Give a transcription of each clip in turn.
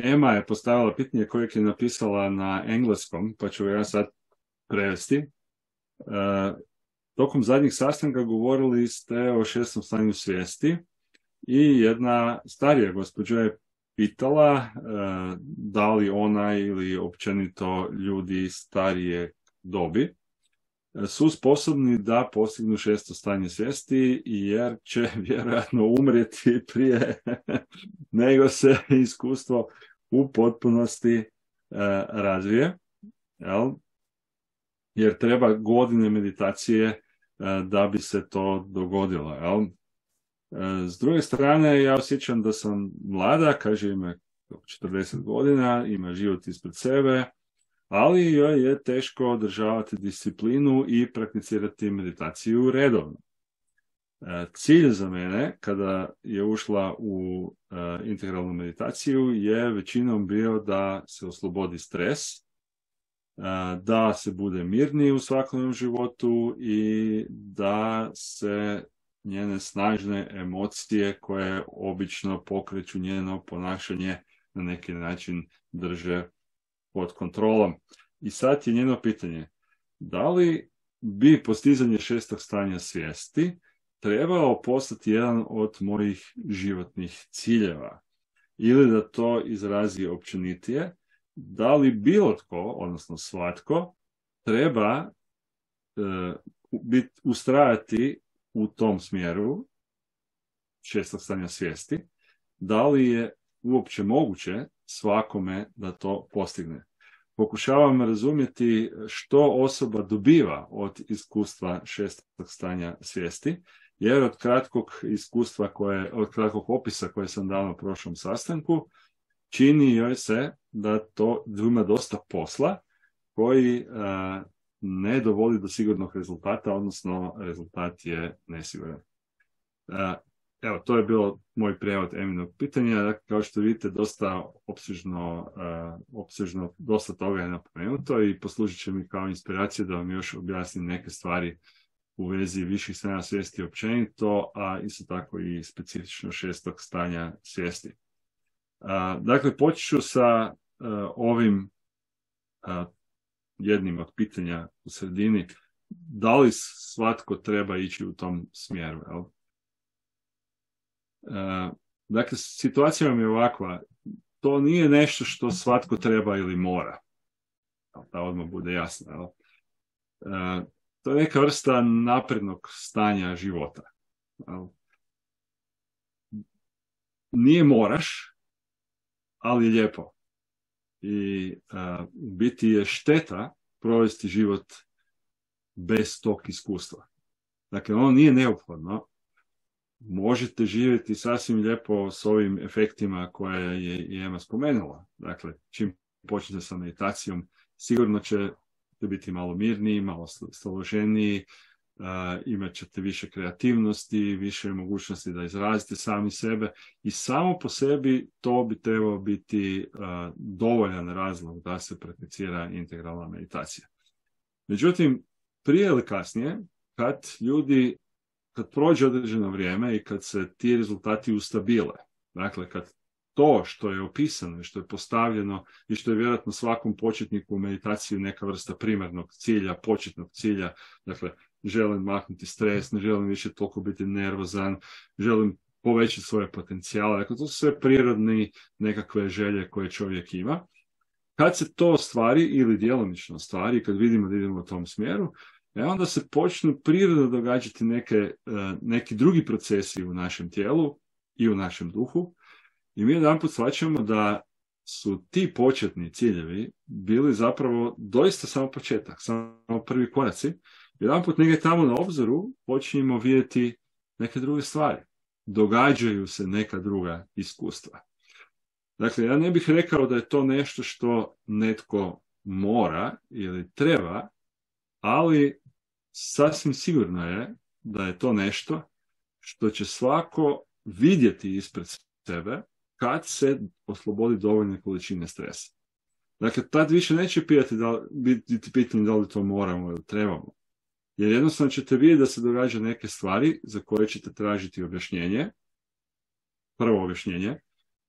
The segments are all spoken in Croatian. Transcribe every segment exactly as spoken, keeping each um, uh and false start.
Ema je postavila pitanje kojeg je napisala na engleskom, pa ću ga ja sad prevesti. E, tokom zadnjih sastanka govorili ste o šestom stanju svijesti i jedna starija gospođa je pitala e, da li ona ili općenito ljudi starije dobi su sposobni da postignu šesto stanje svijesti, jer će vjerojatno umrijeti prije nego se iskustvo u potpunosti e, razvije, jel? Jer treba godine meditacije e, da bi se to dogodilo. Jel? E, s druge strane, ja osjećam da sam mlada, kaže ima četrdeset godina, ima život ispred sebe, ali joj je teško održavati disciplinu i prakticirati meditaciju redovno. Cilj za mene, kada je ušla u integralnu meditaciju, je većinom bio da se oslobodi stres, da se bude mirniji u svakodnevnom životu i da se njene snažne emocije koje obično pokreću njeno ponašanje na neki način drže pod kontrolom. I sad je njeno pitanje, da li bi postizanje šestog stanja svijesti trebao postati jedan od mojih životnih ciljeva, ili da to izrazi općenitije, da li bilo tko, odnosno svatko, treba e, bit, ustrajati u tom smjeru šestog stanja svijesti, da li je uopće moguće svakome da to postigne. Pokušavam razumjeti što osoba dobiva od iskustva šestog stanja svijesti, jer od kratkog iskustva, koje, od kratkog opisa koje sam dao na prošlom sastanku, čini joj se da to ima dosta posla koji a, ne dovodi do sigurnog rezultata, odnosno rezultat je nesiguran. A, Evo, to je bilo moj prijevod Eminog pitanja. Dakle, kao što vidite, dosta opsežno, uh, opsežno, dosta toga je napomenuto i poslužit će mi kao inspiracija da vam još objasnim neke stvari u vezi viših stanja svijesti općenito, a isto tako i specifično šestog stanja svijesti. Uh, dakle, počet ću sa uh, ovim uh, jednim od pitanja u sredini. Da li svatko treba ići u tom smjeru? Jel? Uh, dakle, situacija vam je ovakva, to nije nešto što svatko treba ili mora, da odmah bude jasno. Uh, to je neka vrsta naprednog stanja života. Uh, nije moraš, ali je lijepo. I uh, biti je šteta provesti život bez tog iskustva. Dakle, ono nije neophodno. Možete živjeti sasvim lijepo s ovim efektima koje je i Ema spomenula. Dakle, čim počnete sa meditacijom, sigurno ćete biti malo mirniji, malo staloženiji, uh, imat ćete više kreativnosti, više mogućnosti da izrazite sami sebe i samo po sebi to bi trebao biti uh, dovoljan razlog da se prakticira integralna meditacija. Međutim, prije ili kasnije, kad ljudi kad prođe određeno vrijeme i kad se ti rezultati ustabile, dakle kad to što je opisano i što je postavljeno i što je vjerojatno svakom početniku u meditaciji neka vrsta primarnog cilja, početnog cilja, dakle želim maknuti stres, ne želim više toliko biti nervozan, želim povećati svoje potencijale, dakle to su sve prirodne nekakve želje koje čovjek ima. Kad se to ostvari ili djelomično ostvari, kad vidimo da idemo u tom smjeru, E onda se počnu prirodno događati neke, neki drugi procesi u našem tijelu i u našem duhu i mi jedanput shvaćamo da su ti početni ciljevi bili zapravo doista samo početak, samo prvi koraci. Jedanput negdje tamo na obzoru počinjemo vidjeti neke druge stvari. Događaju se neka druga iskustva. Dakle, ja ne bih rekao da je to nešto što netko mora ili treba, ali sasvim sigurno je da je to nešto što će svako vidjeti ispred sebe kad se oslobodi dovoljne količine stresa. Dakle, tad više neće pitati da, biti pitanje da li to moramo ili trebamo. Jer jednostavno ćete vidjeti da se događa neke stvari za koje ćete tražiti objašnjenje, prvo objašnjenje,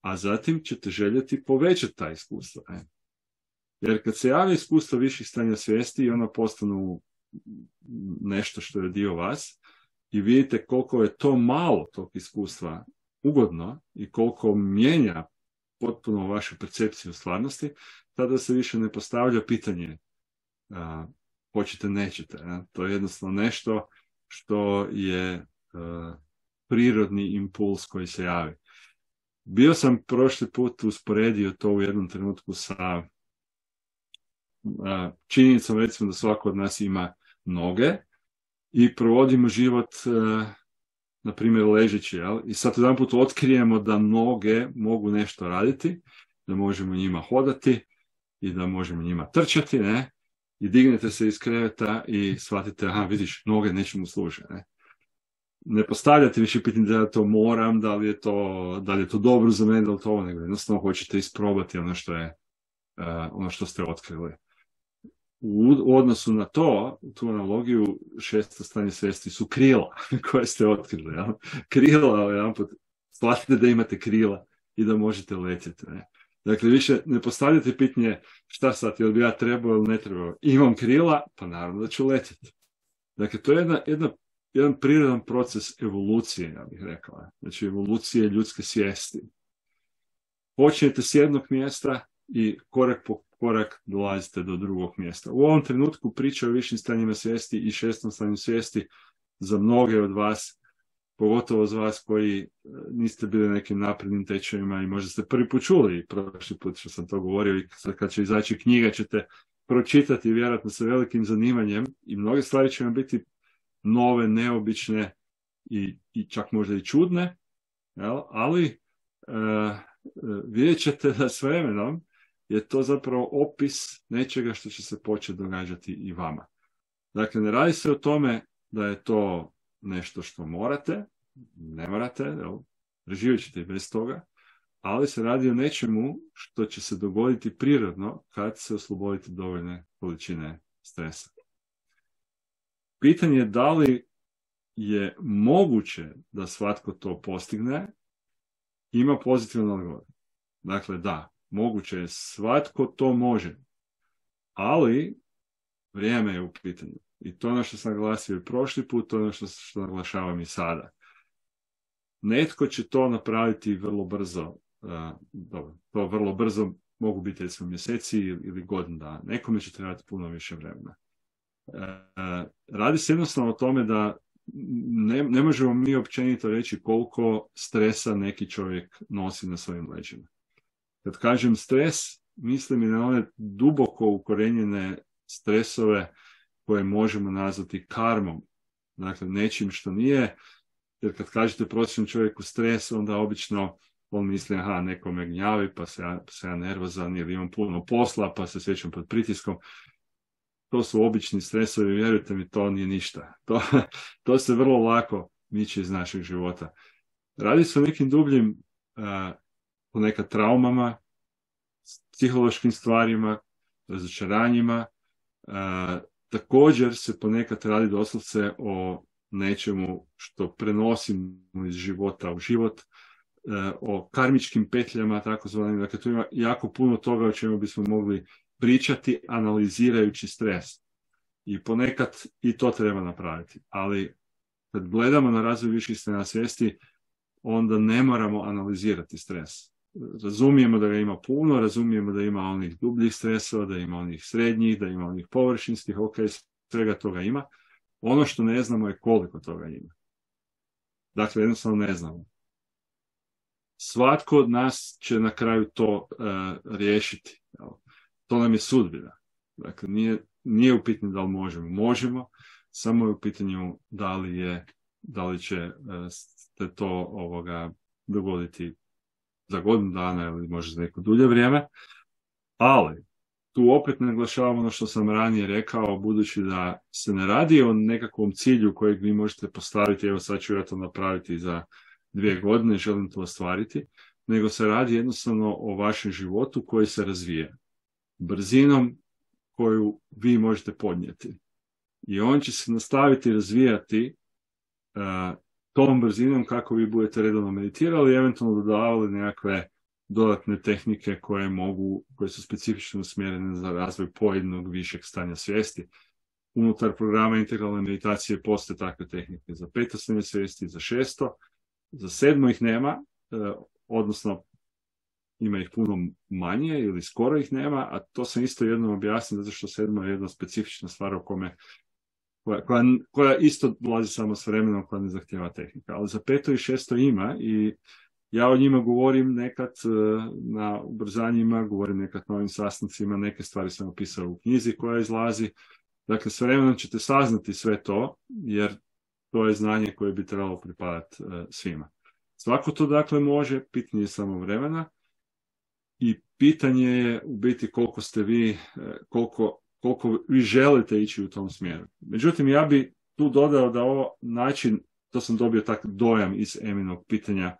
a zatim ćete željeti povećati ta iskustva. Ne? Jer kad se javi iskustvo viših stanja svijesti i ono postanu nešto što je dio vas i vidite koliko je to malo tog iskustva ugodno i koliko mijenja potpuno vašu percepciju stvarnosti, tada se više ne postavlja pitanje a, hoćete, nećete. Ne? To je jednostavno nešto što je a, prirodni impuls koji se javi. Bio sam prošli put usporedio to u jednom trenutku sa a, činjenicom, recimo, da svako od nas ima noge i provodimo život a, na primjer ležeći, jel? I sad jedan put otkrijemo da noge mogu nešto raditi, da možemo njima hodati i da možemo njima trčati, ne? I dignete se iz kreveta i shvatite, aha, vidiš, noge nečemu služe, ne? Ne postavljate više pitanje da ja to moram, da li je to, da li je to dobro za mene, da li to ovo, nego jednostavno hoćete isprobati ono što je, uh, ono što ste otkrili. U, u odnosu na to, tu analogiju, šesto stanje svijesti su krila koje ste otkrili. Ja? Krila, jedan put, shvatite da imate krila i da možete letjeti. Ne? Dakle, više ne postavljate pitanje šta sad, jel bi ja trebao ili ne trebao. Imam krila, pa naravno da ću letjeti. Dakle, to je jedna, jedna, jedan prirodan proces evolucije, ja bih rekao. Znači, evolucije ljudske svijesti. Počnete s jednog mjesta i korak po korak dolazite do drugog mjesta. U ovom trenutku priča o višim stanjima svijesti i šestom stanju svijesti za mnoge od vas, pogotovo za vas koji niste bili nekim naprednim tečajima i možda ste prvi put čuli, prošli put što sam to govorio, i sad kad će izaći knjiga ćete pročitati vjerojatno sa velikim zanimanjem i mnoge stvari će vam biti nove, neobične i, i čak možda i čudne, jel? Ali uh, vidjet ćete da s vremenom je to zapravo opis nečega što će se početi događati i vama. Dakle, ne radi se o tome da je to nešto što morate, ne morate, jel? Preživjet ćete i bez toga, ali se radi o nečemu što će se dogoditi prirodno kad se oslobodite dovoljne količine stresa. Pitanje je da li je moguće da svatko to postigne, ima pozitivan odgovor. Dakle, da, moguće je, svatko to može, ali vrijeme je u pitanju. I to ono što sam naglasio i prošli put, to ono što, što naglašavam i sada. Netko će to napraviti vrlo brzo. Uh, dobro, to vrlo brzo mogu biti recimo mjeseci ili godinu dana. Nekome će trebati puno više vremena. Uh, radi se jednostavno o tome da ne, ne možemo mi općenito reći koliko stresa neki čovjek nosi na svojim leđima. Kad kažem stres, mislim i na one duboko ukorenjene stresove koje možemo nazvati karmom. Dakle, nečim što nije, jer kad kažete prosječnom čovjeku stres, onda obično on misli, aha, neko me gnjavi, pa se ja, pa se ja nervozan, ili imam puno posla, pa se sjećam pod pritiskom. To su obični stresovi, vjerujte mi, to nije ništa. To, to se vrlo lako miče iz našeg života. Radi se o nekim dubljim uh, ponekad traumama, psihološkim stvarima, razočaranjima. Uh, također se ponekad radi doslovce o nečemu što prenosimo iz života u život, uh, o karmičkim petljama, takozvanim. Dakle, tu ima jako puno toga o čemu bismo mogli pričati analizirajući stres. I ponekad i to treba napraviti. Ali kad gledamo na razvoj viših stanja svijesti, onda ne moramo analizirati stres. Razumijemo da ga ima puno, razumijemo da ima onih dubljih stresova, da ima onih srednjih, da ima onih površinskih, ok, svega toga ima. Ono što ne znamo je koliko toga ima. Dakle, jednostavno ne znamo. Svatko od nas će na kraju to uh, riješiti. To nam je sudbina. Dakle, nije, nije u pitanju da li možemo. Možemo, samo je u pitanju da li, je, da li će uh, se to ovoga dogoditi za godinu dana ili možda za neko dulje vrijeme. Ali, tu opet naglašavam ono što sam ranije rekao, budući da se ne radi o nekakvom cilju kojeg vi možete postaviti, evo sad ću ja to napraviti za dvije godine, želim to ostvariti, nego se radi jednostavno o vašem životu koji se razvija brzinom koju vi možete podnijeti. I on će se nastaviti razvijati uh, tom brzinom kako vi budete redovno meditirali i eventualno dodavali nekakve dodatne tehnike koje mogu, koje su specifično usmjerene za razvoj pojedinog višeg stanja svijesti. Unutar programa integralne meditacije postoje takve tehnike za peto stanje svijesti, za šesto, za sedmo ih nema, odnosno ima ih puno manje ili skoro ih nema, a to sam isto jednom objasnio, zato što sedmo je jedna specifična stvar o kome, koja, koja, koja isto dolazi samo s vremenom, koja ne zahtjeva tehnika. Ali za peto i šesto ima i ja o njima govorim nekad na ubrzanjima, govorim nekad na ovim sastancima, neke stvari sam opisao u knjizi koja izlazi. Dakle, s vremenom ćete saznati sve to, jer to je znanje koje bi trebalo pripadati svima. Svako to dakle može, pitanje je samo vremena i pitanje je u biti koliko ste vi, koliko, koliko vi želite ići u tom smjeru. Međutim, ja bi tu dodao da ovo način, to sam dobio tak dojam iz Eminog pitanja,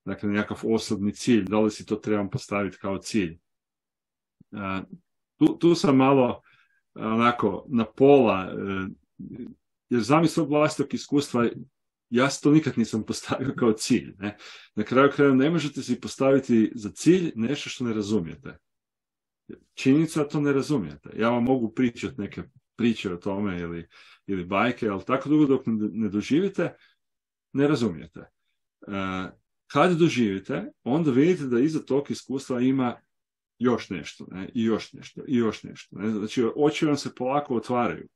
dakle nekakav osobni cilj, da li si to trebam postaviti kao cilj. Tu, tu sam malo onako na pola, jer zamisao vlastitog iskustva, ja se to nikad nisam postavio kao cilj. Ne? Na kraju kraja ne možete si postaviti za cilj nešto što ne razumijete. Činjenica to ne razumijete. Ja vam mogu pričati neke priče o tome ili, ili bajke, ali tako dugo dok ne doživite, ne razumijete. Kad doživite, onda vidite da iza tog iskustva ima još nešto, ne? I još nešto, i još nešto. Ne? Znači, oči vam se polako otvaraju.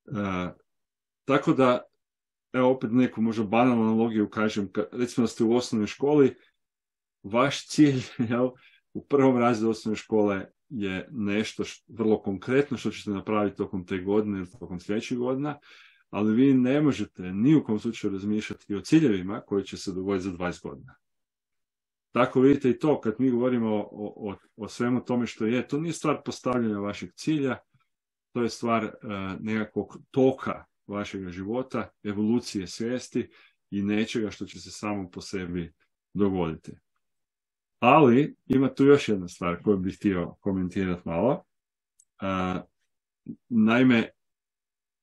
E, tako da, evo opet neku možda banalnu analogiju kažem, kad, recimo da ste u osnovnoj školi, vaš cilj, jel, u prvom razredu osnovne škole je nešto što, vrlo konkretno što ćete napraviti tokom te godine ili tokom sljedećih godina, ali vi ne možete ni u kom slučaju razmišljati o ciljevima koji će se dogoditi za dvadeset godina. Tako vidite i to, kad mi govorimo o, o, o svemu tome što je, to nije stvar postavljanja vašeg cilja, to je stvar uh, nekakvog toka vašeg života, evolucije svijesti i nečega što će se samo po sebi dogoditi. Ali ima tu još jedna stvar koju bih htio komentirati malo. Uh, naime,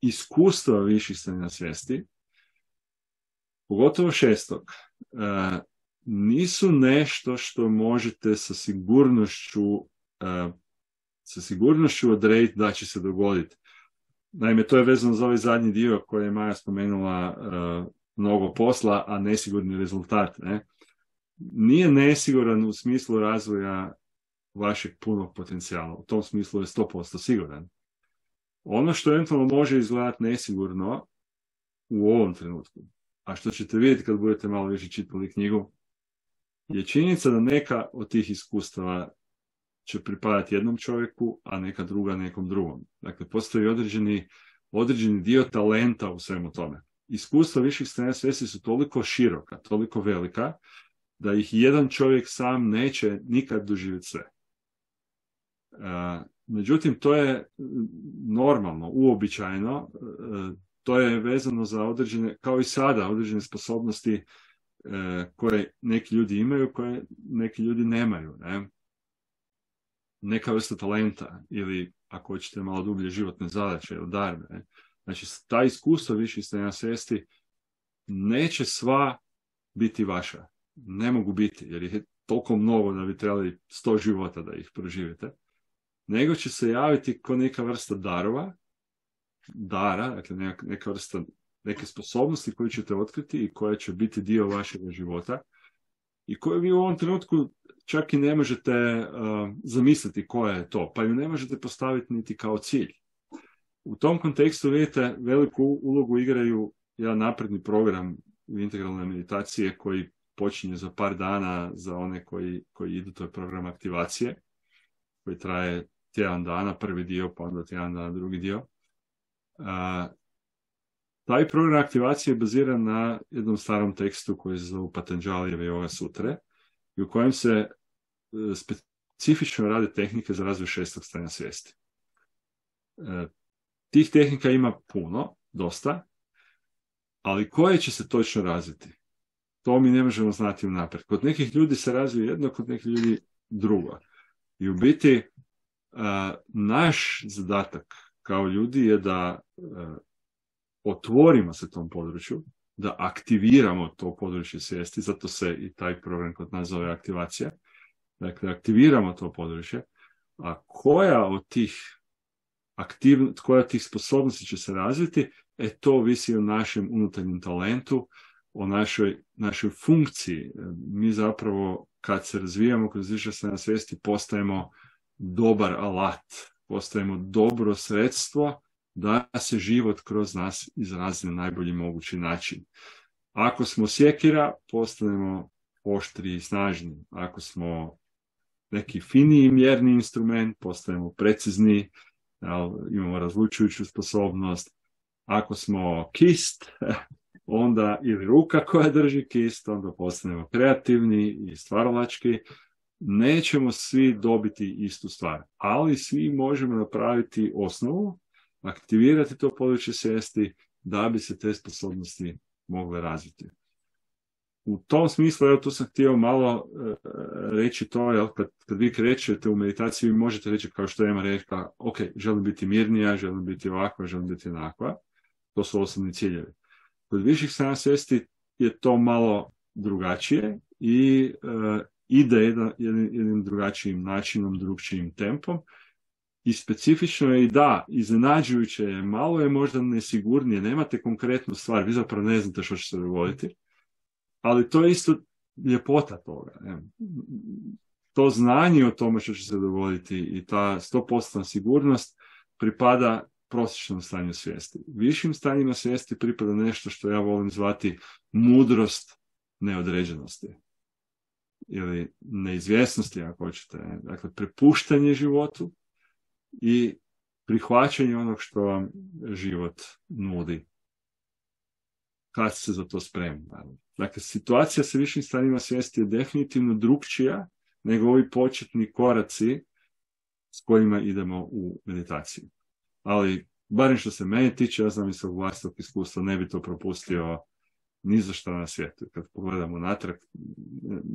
iskustva viših stanja svijesti, pogotovo šestog, uh, nisu nešto što možete sa sigurnošću uh, sa sigurnošću odrediti da će se dogoditi. Naime, to je vezano za ovaj zadnji dio koji je Maja spomenula, uh, mnogo posla, a nesigurni rezultat. Ne? Nije nesiguran u smislu razvoja vašeg punog potencijala. U tom smislu je sto posto siguran. Ono što eventualno može izgledati nesigurno u ovom trenutku, a što ćete vidjeti kad budete malo više čitali knjigu, je činjenica da neka od tih iskustava će pripadati jednom čovjeku, a neka druga nekom drugom. Dakle, postoji određeni, određeni dio talenta u svemu tome. Iskustva viših stanja svijesti su toliko široka, toliko velika, da ih jedan čovjek sam neće nikad doživjeti sve. Uh, međutim, to je normalno, uobičajeno, uh, to je vezano za određene, kao i sada, određene sposobnosti koje neki ljudi imaju, koje neki ljudi nemaju. Ne? Neka vrsta talenta ili, ako hoćete, malo dublje životne zadaće ili darbe. Ne? Znači, ta iskustva viših stanja svijesti neće sva biti vaša. Ne mogu biti, jer ih je toliko mnogo da bi trebali sto života da ih proživite. Nego će se javiti kao neka vrsta darova, dara, dakle neka, neka vrsta neke sposobnosti koje ćete otkriti i koje će biti dio vašeg života i koje vi u ovom trenutku čak i ne možete uh, zamisliti koja je to, pa ju ne možete postaviti niti kao cilj. U tom kontekstu, vidite, veliku ulogu igraju jedan napredni program integralne meditacije koji počinje za par dana za one koji, koji idu, to je program aktivacije koji traje tjedan dana, prvi dio, pa onda tjedan dana, drugi dio. Uh, Taj program aktivacije je baziran na jednom starom tekstu koji se zove Patanđalijeve Yoga Sutre i u kojem se specifično rade tehnike za razvoj šestog stanja svijesti. E, tih tehnika ima puno, dosta, ali koje će se točno razviti? To mi ne možemo znati unaprijed. Kod nekih ljudi se razvije jedno, kod nekih ljudi drugo. I u biti a, naš zadatak kao ljudi je da a, otvorimo se tom području, da aktiviramo to područje svijesti, zato se i taj program kod nas zove aktivacija. Dakle, aktiviramo to područje, a koja od tih aktivn, koja od tih sposobnosti će se razviti, e to visi o našem unutarnjem talentu, o našoj, našoj funkciji. Mi zapravo, kad se razvijamo kroz više stanja svijesti, postajemo dobar alat, postajemo dobro sredstvo da se život kroz nas izrazi na najbolji mogući način. Ako smo sjekira, postanemo oštri i snažni. Ako smo neki finiji mjerni instrument, postajemo precizni, imamo razlučujuću sposobnost. Ako smo kist, onda ili ruka koja drži kist, onda postanemo kreativni i stvaralački. Nećemo svi dobiti istu stvar, ali svi možemo napraviti osnovu, aktivirati to područje svijesti da bi se te sposobnosti mogle razviti. U tom smislu, evo tu sam htio malo e, reći to, jel, kad, kad vi krećete u meditaciji, vi možete reći, kao što Ema rekla, ok, želim biti mirnija, želim biti ovakva, želim biti onakva. To su osobni ciljevi. Kod viših stanja svijesti je to malo drugačije i e, ide jedan, jednim drugačijim načinom, drugčijim tempom. I specifično je i da, iznenađujuće je, malo je možda nesigurnije, nemate konkretnu stvar, vi zapravo ne znate što će se dogoditi, ali to je isto ljepota toga. Ne? To znanje o tome što će se dogoditi i ta sto posto sigurnost pripada prosječnom stanju svijesti. Višim stanjima svijesti pripada nešto što ja volim zvati mudrost neodređenosti ili neizvjesnosti, ako hoćete. Dakle, prepuštanje životu i prihvaćanje onog što vam život nudi, kad se za to spremni. Dakle, situacija sa višim stanjima svijesti je definitivno drukčija nego ovi početni koraci s kojima idemo u meditaciju. Ali, barem što se mene tiče, ja znam iz svog vlastitog iskustva, ne bi to propustio ni za što na svijetu. Kad pogledamo natrag,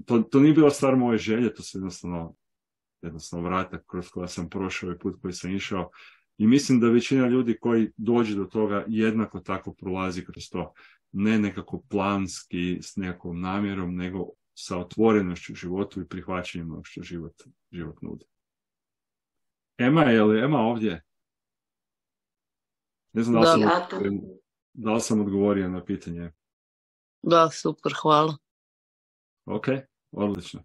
to, to nije bila stvar moje želje, to se jednostavno jednostavno vratak kroz koja sam prošao ovaj put koji sam išao. I mislim da većina ljudi koji dođe do toga jednako tako prolazi kroz to. Ne nekako planski, s nekakvom namjerom, nego sa otvorenošću životu i prihvaćanjem onog što život, život nudi. Ema, je li Ema ovdje? Ne znam da li, sam, Da, da li sam odgovorio na pitanje. da, super, hvala. Ok, odlično.